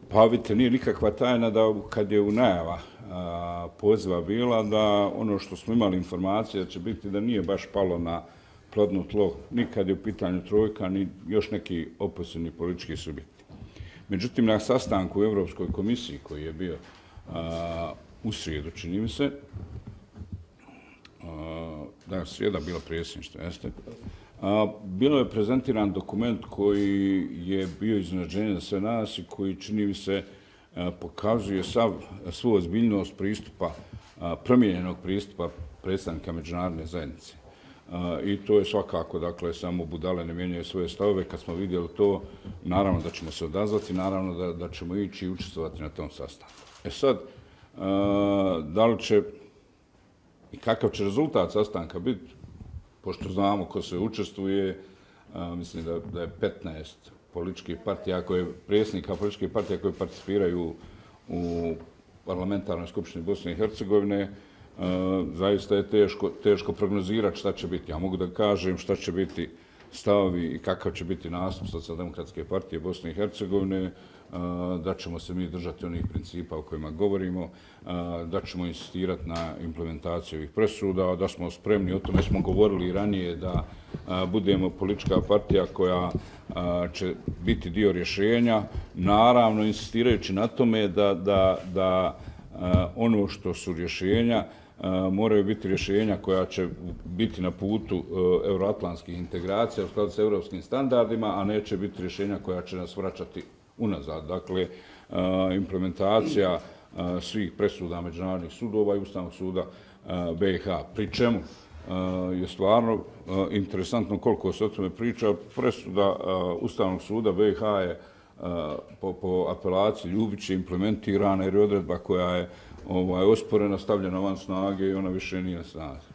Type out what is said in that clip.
Pa vidite, nije nikakva tajna da kad je u najava poziva bila da ono što smo imali informacije da će biti da nije baš palo na plodno tlo ni kad je u pitanju trojka, ni još neki opozicijni politički subjekti. Međutim, na sastanku u Europskoj komisiji koji je bio u srijedu, čini mi se, da, srijeda bila predsjedništvo, jeste, bilo je prezentiran dokument koji je bio iznenađenje za sve nas i koji, čini mi se, pokazuje svu ozbiljnost pristupa, promijenjenog pristupa predstavnika međunarodne zajednice. I to je svakako, dakle, samo budale ne mijenjaju svoje stavove. Kad smo vidjeli to, naravno da ćemo se odazvati, naravno da ćemo ići i učestvovati na tom sastanku. Sad, da li će i kakav će rezultat sastanka biti, pošto znamo ko se učestvuje, mislim da je 15 političkih partija, predsjednika političkih partija koje participiraju u parlamentarnoj skupštini Bosne i Hercegovine, zaista je teško prognozirati šta će biti. Ja mogu da kažem šta će biti stavovi i kakav će biti nastup Socijaldemokratske partije Bosne i Hercegovine, da ćemo se mi držati onih principa o kojima govorimo, da ćemo insistirati na implementaciji ovih presuda, da smo spremni, o tome smo govorili i ranije, da budemo politička partija koja će biti dio rješenja, naravno insistirajući na tome da ono što su rješenja moraju biti rješenja koja će biti na putu euroatlantskih integracija u skladu s europskim standardima, a neće biti rješenja koja će nas vraćati unazad. Dakle, implementacija svih presuda međunarodnih sudova i Ustavnog suda BiH. Pri čemu je stvarno interesantno koliko se o tome priča. Presuda Ustavnog suda BiH je po apelaciji Ljubića implementirana jer je odredba koja je osporena, stavljena van snage i ona više nije na snazi.